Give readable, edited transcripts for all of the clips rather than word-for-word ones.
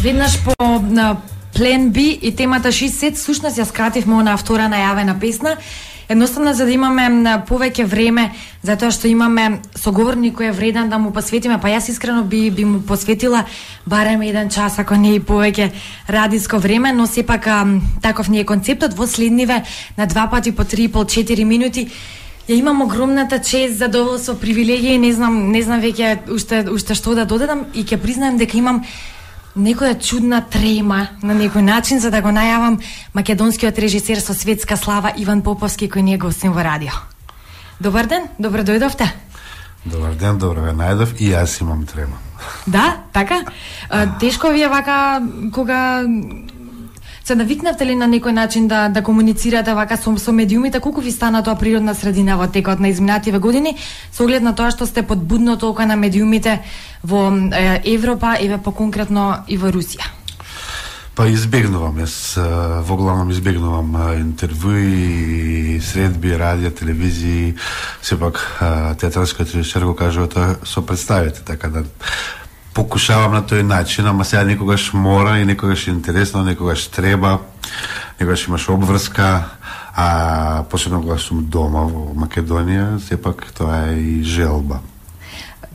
Веднаш по Плен B и темата She Said, всушност ја скративме на втора најавена песна. Едноставно за да имаме повеќе време, затоа што имаме соговорник кој е вреден да му посветиме, па јас искрено би му посветила барем 1 час, ако не и повеќе радиско време, но сепак таков ни е концептот. Во следниве на 2 пати по 3,5-4 минути ја имам огромната чест, задоволство, привилегија и не знам веќе уште што да додадам и ќе признаем дека имам некоја чудна трема на некој начин за да го најавам македонскиот режисер со светска слава Иван Поповски кој ни е гостин во радио. Добар ден, добро дојдовте. Добар ден, добро ве најдов и јас имам трема. Да, така? Тешко ви е вака кога се навикнавте ли на некој начин да комуницирате вака со медиумите? Колку ви стана тоа природна средина во текот на изминативе години, со оглед на тоа што сте под будното око на медиумите во Европа, еве поконкретно и во Русија? Па избегнувам, јас во главном избегнувам интервјуи, средби, радио, телевизии, сепак театралскиот режисер го кажува тоа со представите, така да покушавам на тој начин, ама сега некогаш мора и некогаш е интересно, некогаш треба, некогаш имаш обврска, а посебно кога сум дома во Македонија, сепак тоа е и желба.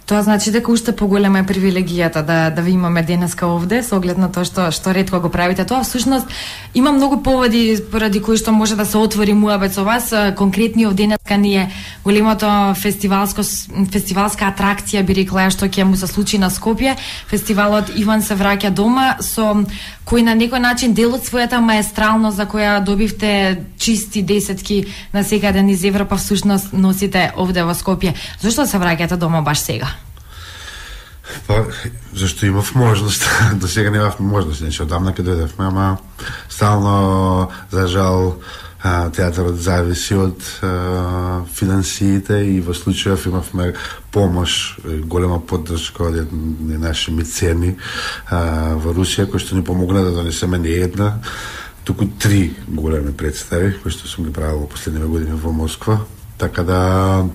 Тоа значи дека уште поголема е привилегијата да ви имаме денеска овде, со оглед на тоа што ретко го правите тоа. Всушност, има многу поводи поради кои што може да се отвори муабет со вас. Конкретниот денеска ни е големото фестивалска атракција, би рекла, што ќе му се случи на Скопје. Фестивалот Иван се враќа дома, со кој на некој начин дел од својата маестралност за која добивте чисти десетки на секаде низ Европа, всушност носите овде во Скопје. Зошто се враќате дома баш сега? Па, зашто имав можност. До сега немав можност, значи одамна ке дојдевме, ама стално, за жал, театарот зависи од финансиите и во случајов имавме помош, голема поддршка од наши мецени во Русија, кои што ни помогна да донесеме не една, туку 3 големи представи, кои што сум ги правил во последниве години во Москва, така да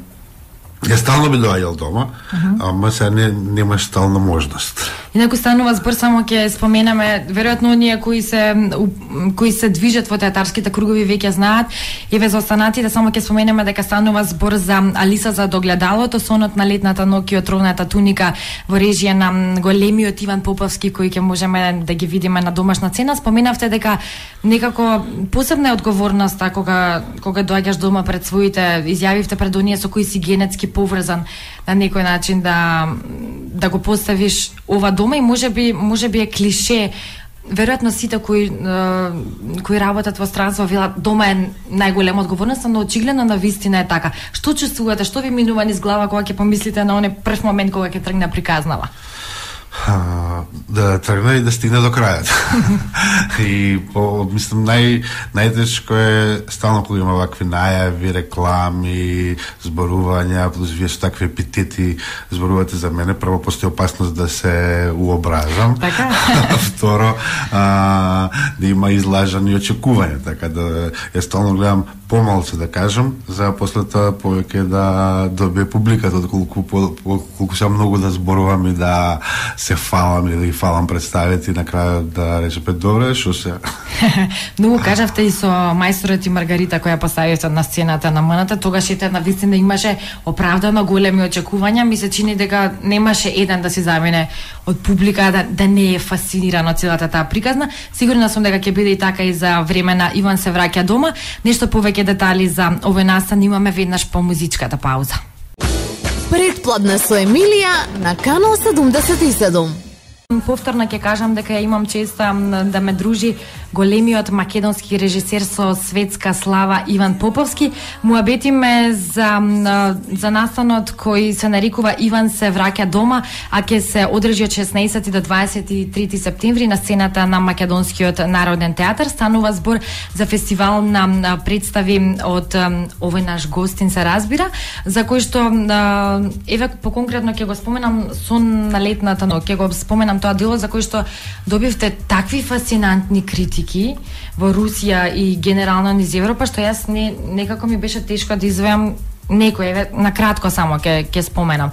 ја стално би доаѓал дома, ама сега немаш стална можност. Инаку станува збор, само ќе споменаме, веројатно оние кои се движат во театарските кругови веќе знаат, еве за останатите само ќе споменеме дека станува збор за Алиса за догледалото, сонот на летната ноќ и отровната туника во режија на големиот Иван Поповски, кој ќе можеме да ги видиме на домашна цена. Споменавте дека некако посебна е одговорноста кога доаѓаш дома пред своите, изјавивте пред оние со кои си генетски поврзан на некој начин да го поставиш ова дома и можеби е клише. Веројатно сите кои работат во странство велат дома е најголема одговорност, но очигледно на вистина е така. Што чувствувате, што ви минува низ глава кога ќе помислите на оној прв момент кога ќе тргне приказнава? Да тргне и да стигне до крајот. И мислам најтешко е стално кога има вакви најави, реклами, зборувања, плюс вие со такви епитети зборувате за мене, прво постои опасност да се уображам. Така. Второ, да има излажани очекувања, така да ја стално гледам помалку да кажам, за после тоа повеќе да добие публиката, колку се многу да зборувам и да се фалам или да ги фалам представите и на крајот да рече добре, шо се. Многу кажавте и со мајсторот и Маргарита која поставивте на сцената на МНТ, тогаш ете на вистина имаше оправдано големи очекувања, ми се чини дека немаше еден да се замине од публика да не е фасциниран од целата таа приказна. Сигурна сум дека ќе биде и така и за време на Иван се враќа дома. Нешто повеќе детали за овој настан имаме веднаш по музичката пауза. Предплатна со Емилија на Канал 77. Повторно ќе кажам дека имам честа да ме дружи големиот македонски режисер со светска слава Иван Поповски. Муабетиме за настанот кој се нарекува Иван се враќа дома, а ќе се одржи од 16 до 23 септември на сцената на Македонскиот народен театар. Станува збор за фестивал на представи од овој наш гостин се разбира, за кој што еве поконкретно ќе го споменам сон на летната ноќ, ќе го споменам тоа дело за кој што добивте такви фасцинантни критики во Русија и генерално низ Европа, што јас некако ми беше тешко да извеам некој, на кратко само ќе споменам.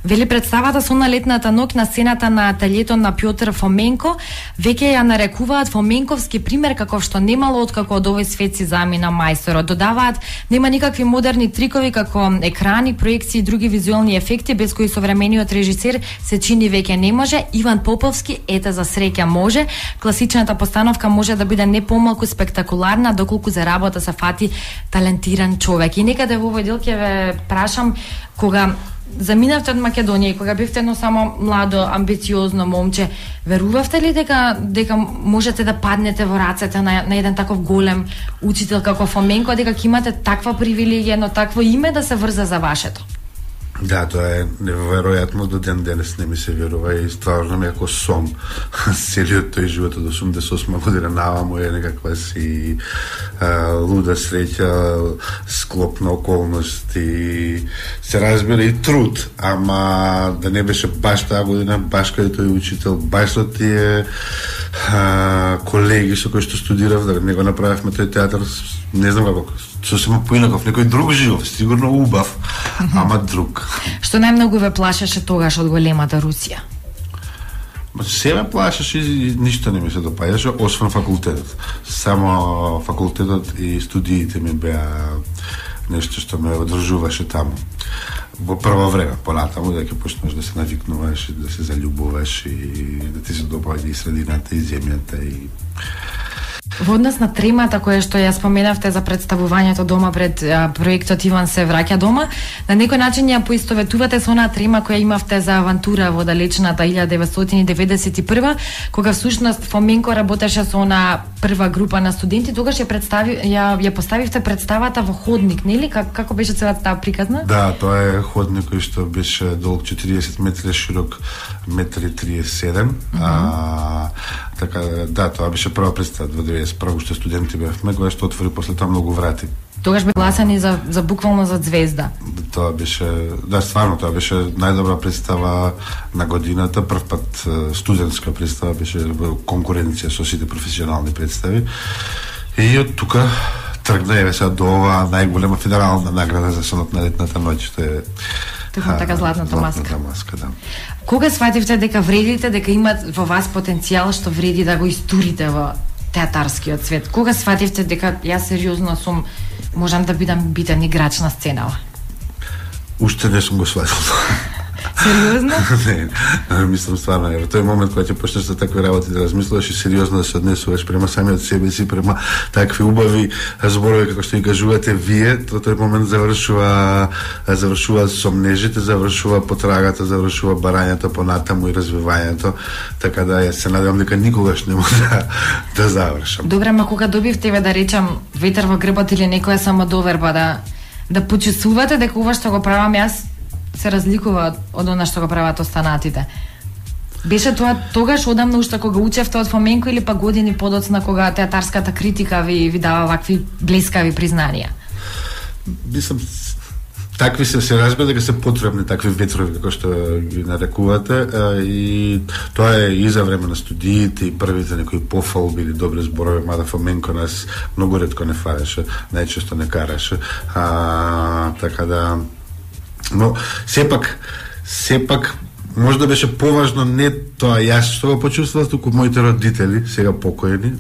Вели представата со на летната ноќ на сцената на ателјето на Пјотр Фоменко веќе ја нарекуваат фоменковски пример каков што немало откако од овој свет си замина мајсторот. Додаваат нема никакви модерни трикови како екрани, проекции и други визуелни ефекти без кои современиот режисер се чини веќе не може. Иван Поповски ете за среќа може. Класичната постановка може да биде не помалку спектакуларна доколку за работа се фати талентиран човек. И некаде во овој дел ќе ве прашам, кога заминавте од Македонија и кога бевте едно само младо, амбициозно момче, верувавте ли дека можете да паднете во рацете на еден таков голем учител како Фоменко, дека ќе имате таква привилегија, едно такво име да се врза за вашето? Да, тоа е неверојатно, до ден денес не ми се верува и стварно ми како сон. Целиот тој живот од 88 година наваму е некаква си луда среќа, склоп на околности, се разбира и труд, ама да не беше баш таа година, баш каде тој учител, баш со тие колеги со кои што студирав, да не го направивме тој театар, не знам како, сосема поинаков, некој друг живот, сигурно убав, ама друг. Што најмногу ве плашеше тогаш од големата Русија? Се ме плашеше и ништо не ми се допаѓаше, освен факултетот. Само факултетот и студиите ми беа нешто што ме одржуваше таму. Во прво време, понатаму, дека почнеш да се навикнуваш, да се заљубуваш и да ти се допаѓа и средината, и земјата, и... Во однос на тремата која што ја споменавте за представувањето дома пред проектот Иван се враќа дома, на некој начин ја поистоветувате со онаа трема која имавте за авантура во далечната 1991, кога всушност Фоменко работеше со онаа прва група на студенти, тогаш ја поставивте представата во ходник, нели? Како беше целата таа приказна? Да, тоа е ходник кој што беше долг 40 метри, широк 1,37 м. Така, да, тоа беше прва представа во 91 што студенти бевме, која што отвори после тоа многу врати. Тогаш бе гласани за буквално за звезда. Тоа беше, да, стварно, тоа беше најдобра представа на годината, прв пат студентска представа, беше конкуренција со сите професионални представи. И од тука тргна еве сега до оваа најголема федерална награда за сонот на летната ноќ, што е така златната маска. Да. Кога свативте дека вредите, дека имат во вас потенцијал што вреди да го истурите во театарскиот свет? Кога свативте дека јас сериозно можам да бидам битен играч на сценава? Уште не сум го сватил. Сериозно? Не, мислам стварно, во тој момент кога ќе почнеш за такви работи да размислуваш и сериозно да се однесуваш према самиот себе си, према такви убави зборови како што ги кажувате вие, тој момент завршува сомнежите, завршува потрагата, завршува барањето понатаму и развивањето, така да се надевам дека никогаш не може да завршам. Добре, ма кога добивте, да речам, ветер во грбот или некоја самодоверба да почувствувате дека ова што го правам јас се разликува од она што го прават останатите. Беше тоа тогаш одамна уште кога учевте од Фоменко или па години подоцна кога театарската критика ви дава вакви блескави признанија? Мислам, такви се разбира дека се потребни такви ветрови како што ги нарекувате, и тоа е и за време на студиите и првите некои пофалби или добри зборови, мада Фоменко нас многу ретко не фареше, најчесто не караше, така да. Но сепак може да беше поважно не тоа јас што го почувствував, туку моите родители, сега покоени,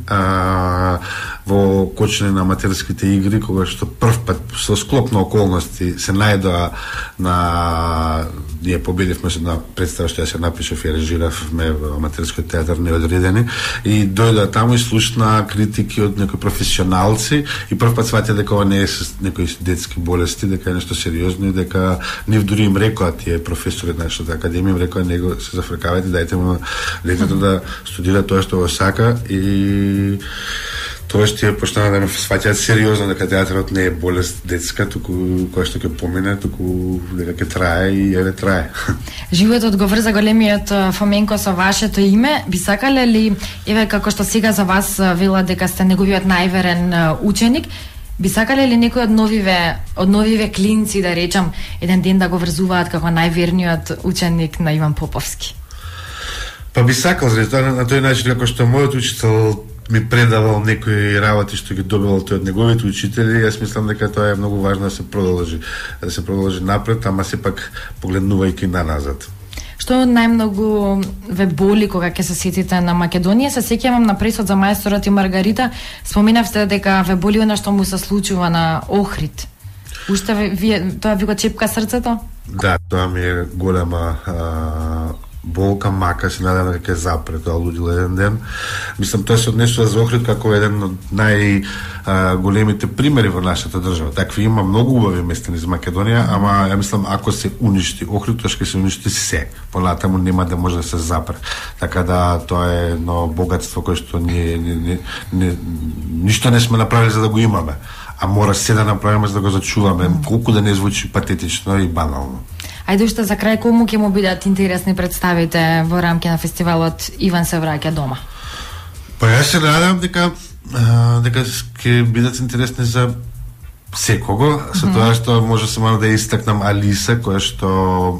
во кочење на аматерските игри, кога што прв пат со склоп на околности се најдоа на... Ние победивме се на представа што ја се напишав и режиравме во аматерскиот театар Неодредени, и дојдоа таму и слушна критики од некои професионалци и прв пат сватија дека ова не е со некои детски болести, дека е нешто сериозно и дека нив дури им рекоа тие професори на што академија, им рекоа него се зафркавајте, дајте му детето да студира тоа што го сака, и тоа што ја почнаа да ме сваќаат сериозно дека театарот не е болест детска, туку која што ќе помине, туку дека ќе трае и еве трае. Животот го врза големиот Фоменко со вашето име. Би сакале ли, еве како што сега за вас вела дека сте неговиот најверен ученик, би сакале ли некој од новиве клинци, да речам, еден ден да го врзуваат како најверниот ученик на Иван Поповски? Па би сакал, на тој начин како што мојот учител ми предавал некои работи што ги добивал тој од неговите учители. Јас мислам дека тоа е многу важно да се продолжи напред, ама сепак погледнувајќи назад. Што најмногу ве боли кога ќе се сетите на Македонија? Се сеќавам на пресот за Мајсторот и Маргарита, споменавте дека ве боли она што му се случува на Охрид. Уште тоа ви го чепка срцето? Да, тоа ми е голема болка, мака се надевам дека ќе запре тоа лудило еден ден. Мислам, тоа се однесува за Охрид како еден од големите примери во нашата држава. Такви има многу убави места низ Македонија, ама ја мислам ако се уништи Охрид, тоа ќе се уништи се. Понатаму нема да може да се запре. Така да тоа е едно богатство кое што ние ништо не сме направили за да го имаме, а мора се да направиме за да го зачуваме, колку да не звучи патетично и банално. Ајде уште за крај, кому ќе му бидат интересни представите во рамки на фестивалот Иван се враќа дома? Па јас се надевам дека ќе бидат интересни за секого, со тоа што може само да истакнам Алиса, која што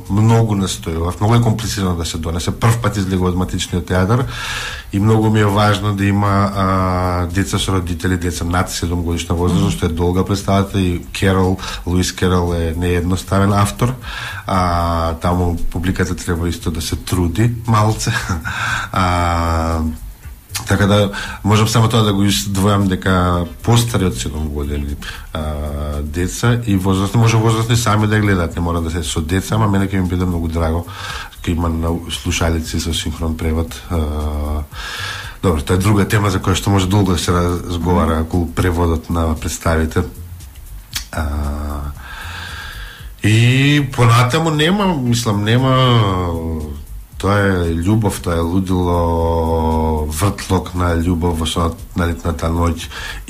многу настојува, многу е комплицирано да се донесе, прв пат излегува од матичниот театар и многу ми е важно да има деца со родители, деца над 7 годишна возраст, што е долга представата и Луис Керол е неедноставен автор, таму публиката треба исто да се труди малце. Така да можам само тоа да го издвојам дека постари од 7 години деца и возрастни, може возрастни сами да гледаат, не мора да се со деца, ама мене ќе ми биде многу драго ќе има на слушалици со синхрон превод. Добро, тоа е друга тема за која што може долго да се разговара околу преводот на представите. И понатаму нема тоа е љубов, тоа е лудило, вртлок на љубов во сонот на летната ноќ,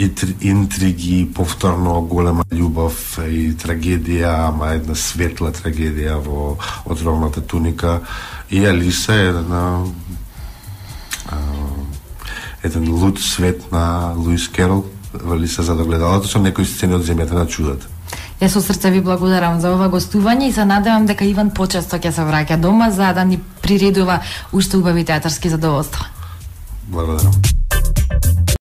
и интриги, повторно голема љубов и трагедија, ама една светла трагедија во отровната туника. И Алиса е еден луд свет на Луис Керол, Алиса за догледалото, со некои сцени од земјата на чудата. Јас со срце ви благодарам за ова гостување и се надевам дека Иван почесто ќе се враќа дома за да ни приредува уште убави театарски задоволства. Благодарам.